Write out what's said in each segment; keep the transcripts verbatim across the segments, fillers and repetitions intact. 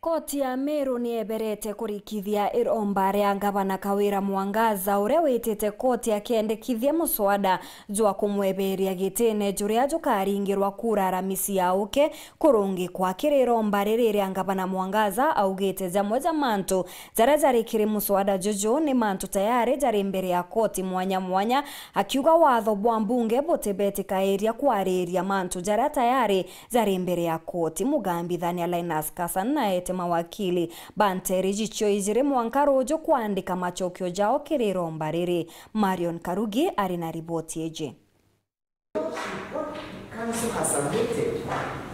Koti ya Meru nieberete kurikithia iromba ria Ngavana Kawira Mwangaza, uria witite koti akendekithia muswada jwa kumweberia gitine juria jukaringirwa kura Aramisi ya uke kurungikwa. Kiri iromba riri ria Ngavana Mwangaza, augite jamwe ja mantu jaria jari kiri muswada juju ni mantu tayari jari mbere ya koti mwanya mwanya, akiuga watho bwa mbunge butibetikairia kwariria mantu jaria tayari jari mbere ya koti. Mugambithania Linus Kasan naete mawakili ba nteri jicio ijiri mwanka ruju kwandika macokio jao kiri iromba riri. Marion Karugi ari na riboti iji. What council has submitted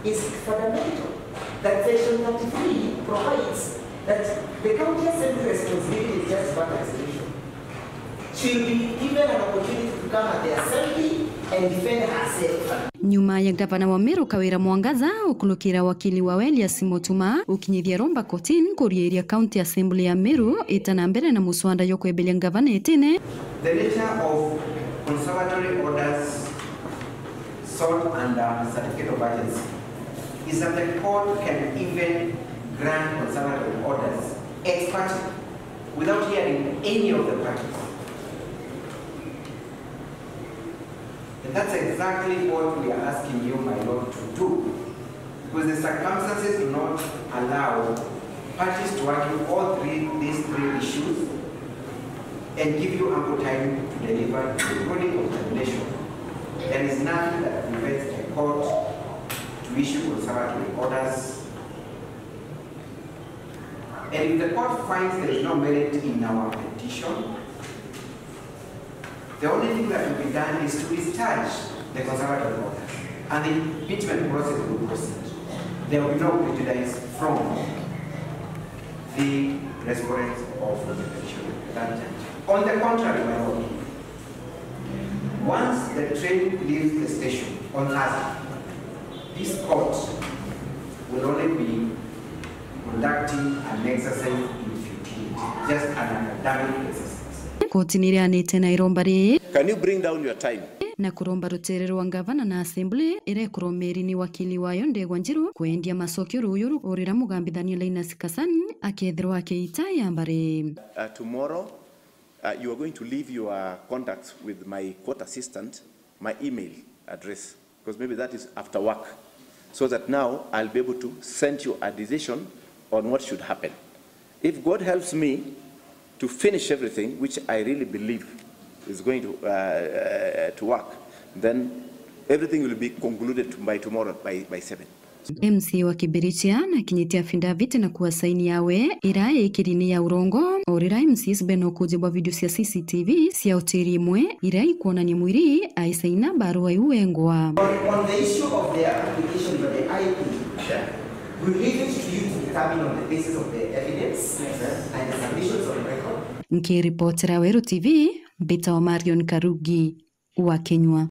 is fundamental, that section thirty-three provides that the county assembly responsibility is just one resolution. She'll be given an opportunity to come at the assembly and defend herself. Nyuma ya ngavana wa Meru Kawira Mwangaza ukunukira wakili wa Elias Mutuma ukinyithia romba kotini kuriiria County Assembly ya Meru ita na mbere na muswada jwa kweberia ngavana itine. The nature of conservatory orders sought under certificate of urgency is that the court can even grant conservatory orders ex parte without hearing any of the parties. And that's exactly what we are asking you, my lord, to do, because the circumstances do not allow parties to argue all three, these three issues and give you ample time to deliver the ruling of condemnation. There is nothing that prevents the court to issue conservatory orders. And if the court finds there is no merit in our petition, the only thing that will be done is to discharge the conservatory orders, and the impeachment process will proceed. There will be no prejudice from the respondents of the petition at that juncture. On the contrary, my lord, once the train leaves the station on Thursday, this court will only be conducting an exercise in futility, just an academic exercise. Koti ni irianite na iromba riri. Can you bring down your time? Na kuromba rutere rwa ngavana na assembly iria ikuromeri ni wakili wayo Ndegwa Njiru kwendia macokio ruyu ru urira mugambithania Linus Kasani akethirwa akiita ya mbari. Uh, tomorrow, uh, you are going to leave your contacts with my court assistant, my email address, because maybe that is after work, so that now I'll be able to send you a decision on what should happen. If God helps me to finish everything, which I really believe is going to, uh, uh, to work, then everything will be concluded by tomorrow by, by seven. M C A wa Kibirichia nakinyitie affidavit na kua saini yawe iria ikiri ni ya urongo, o riria M C As bena ukuji bwa video cia C C T V cia hoteli imwe iria ikwonania mwiri aisaina barua iu wengwa. On, on the issue of the application for the I P, we leave it to you to determine on the basis of the evidence and the submissions on record. Nkiripotera Weru T V, mbitawa Marion Karugi wa Kenywa.